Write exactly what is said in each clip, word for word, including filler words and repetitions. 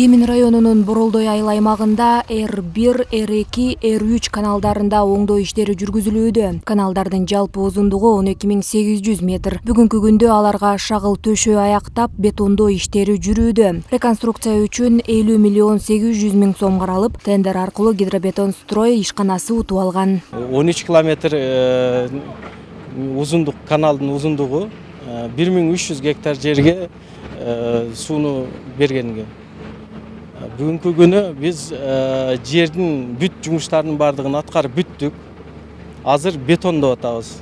Кемин районунун Боролдой айыл аймагында Р бир, Р эки, Р үч каналдарында оңдоо иштери жүргүзүлүүдө. Каналдардын жалпы узундугу он эки миң сегиз жүз метр. Бүгүнкү күндө аларга шагыл төшөө аяктап, бетондоо иштери жүрүүдө. Реконструкция үчүн элүү миллион сегиз жүз миң сом каралып, тендер аркылуу Гидробетон строй ишканасы утуп алган. он үч километр узундук каналдын узундугу бир миң үч жүз гектар жерге сууну бергенге. Бүгүнкү күнү биз жердин бүт жумуштарынын бардыгын аткарып бүттүк. Азыр бетондоп атабыз.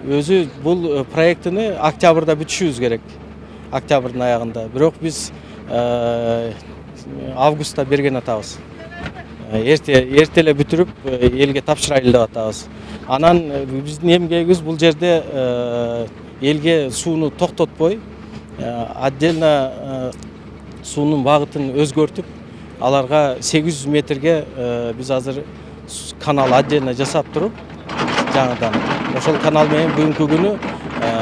Өзү бул проектini октябрда бүтүшүбүз керек. Октябрдын аягында. Бирок биз августта берген атабыз. Эрте эртеле бүтүрүп элге тапшырайлы деп атабыз. Анан биздин эмгегибиз бул жерде элге сууну токтотпой, отдельно суунун багытын өзгөртүп, аларга сегиз жүз метрге биз азыр канал отдельно жасап туруп, жаңыдан ошол канал менен бүгүнкү күнү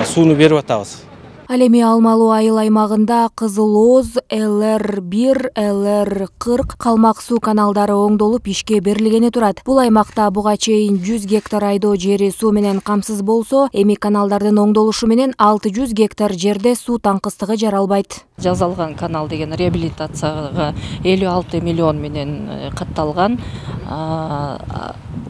сууну берип атабыз. Ал эми Алмалуу айыл аймагында Кызыл Оз, Л Р бир, Л Р кырк калмак суу каналдары оңдолуп ишке берилгени турат. Бул аймакта буга чейин жүз гектар айдоо жери суу менен камсыз болсо, эми каналдардын оңдолушу менен алты жүз гектар жерде суу таңкыстыгы жаралбайт. Жасалган канал деген реабилитацияга элүү алты миллион менен катталган.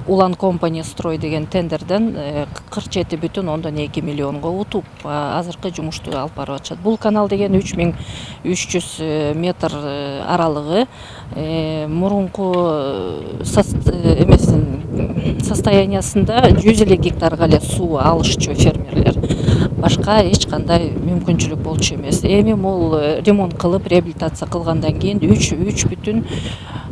Улан компания строй деген тендерден кырк жети бүтүн ондон эки миллионго утуп азыркы жумушту алып барып атышат. Бул канал деген үч миң үч жүз метр аралыгы мурунку эмесин состояниясында жүз элүү гектарга эле суу алышчу фермерлер. Башка эч кандай мүмкүнчүлүк болчу эмес. Эми бул ремонт кылып, реабилитация кылгандан кийин үч бүтүн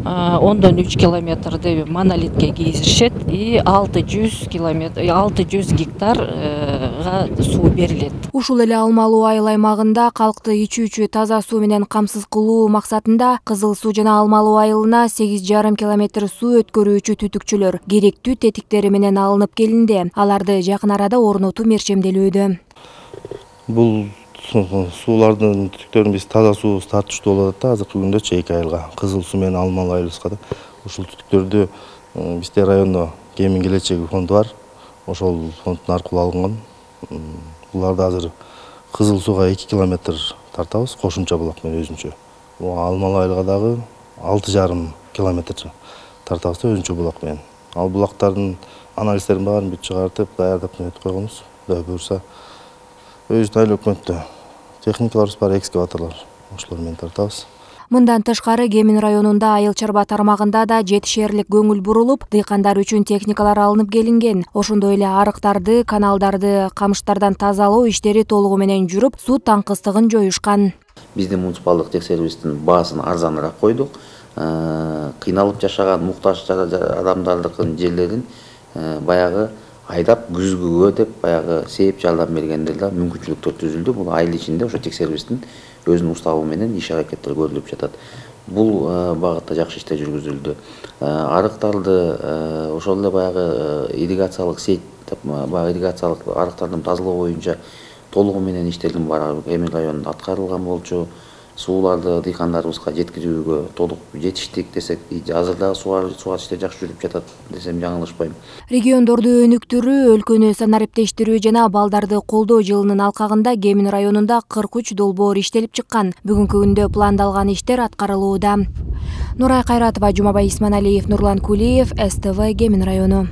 ондон үч километрди монолитке кийизишет и алты жүз километр, алты жүз гектарга суу берилет. Ушул эле Алмалуу айыл аймагында калкты ичүүчү таза суу менен камсыз кылуу максатында Кызыл суу жана Алмалуу айылына сегиз жарым километр суу өткөрүүчү түтүкчүлөр керектүү тетиктери менен алынып келинди. Аларды жакын арада орнотуу мерчемделүүдө. Бул суулардын түтүктөрүн биз таза суу тартыштуу болуп атат да, азыркы күндө эки айылга. Кызыл суу менен Алмалуу айылыбызга да. Ушул түтүктөрдү бизде райондо Кемин келечеги фонду бар. Ошол фонддун аркылуу алынган. Буларды азыр Кызыл сууга эки километр тартабыз, кошумча булак менен өзүнчө. Алмалуу айылга дагы алты жарым километр тартабыз да өзүнчө булак менен. Ал булактардын анализдерин баарын бүт чыгартып, даярдап нетип койгонбуз. Кудай буюрса, өзүбүздүн айыл өкмөттө техникаларыбыз бар, экскаваторлор, ошолор менен тартабыз. Мындан тышкары Кемин районунда айыл чарба тармагында да жетишерлик көңүл бурулуп, дыйкандар үчүн техникалар алынып келинген. Ошондой эле арыктарды, каналдарды камыштардан тазалоо иштери толугу менен жүрүп, суу таңкыстыгын жоюшкан. Биздин муниципалдык текшерүүбүздүн баасын арзаныраак койдук. Кыйналып жашаган муктаж адамдардын жерлерин баягы айдап күзгүгө деп баягы сээп жардам бергендер да мүмкүнчүлүктөр түзүлдү. Бул айыл ичинде ошо текшерүүбүздүн өзүнүн уставы менен иш аракеттер көрүлүп жатат. Бул багытта жакшы иштер жүргүзүлдү. Арыктарды ошол эле баягы ирригациялык сеть, баягы ирригациялык арыктардын тазалоо боюнча толугу менен иштердин баары Кемин районунда аткарылган болчу. Сууларды дыйкандарыбызга жеткирүүгө толук жетиштик десек, азыр дагы суу иштери жакшы жүрүп жатат десем жаңылышпайм. Региондорду өнүктүрүү, өлкөнү санариптештирүү жана балдарды колдоо жылынын алкагында Кемин районунда кырк үч долбоор иштелип чыккан. Бүгүнкү күндө пландалган иштер аткарылууда. Нурай Кайратова, Жумабай Исманалиев, Нурлан Кулиев, С Т В, Кемин району.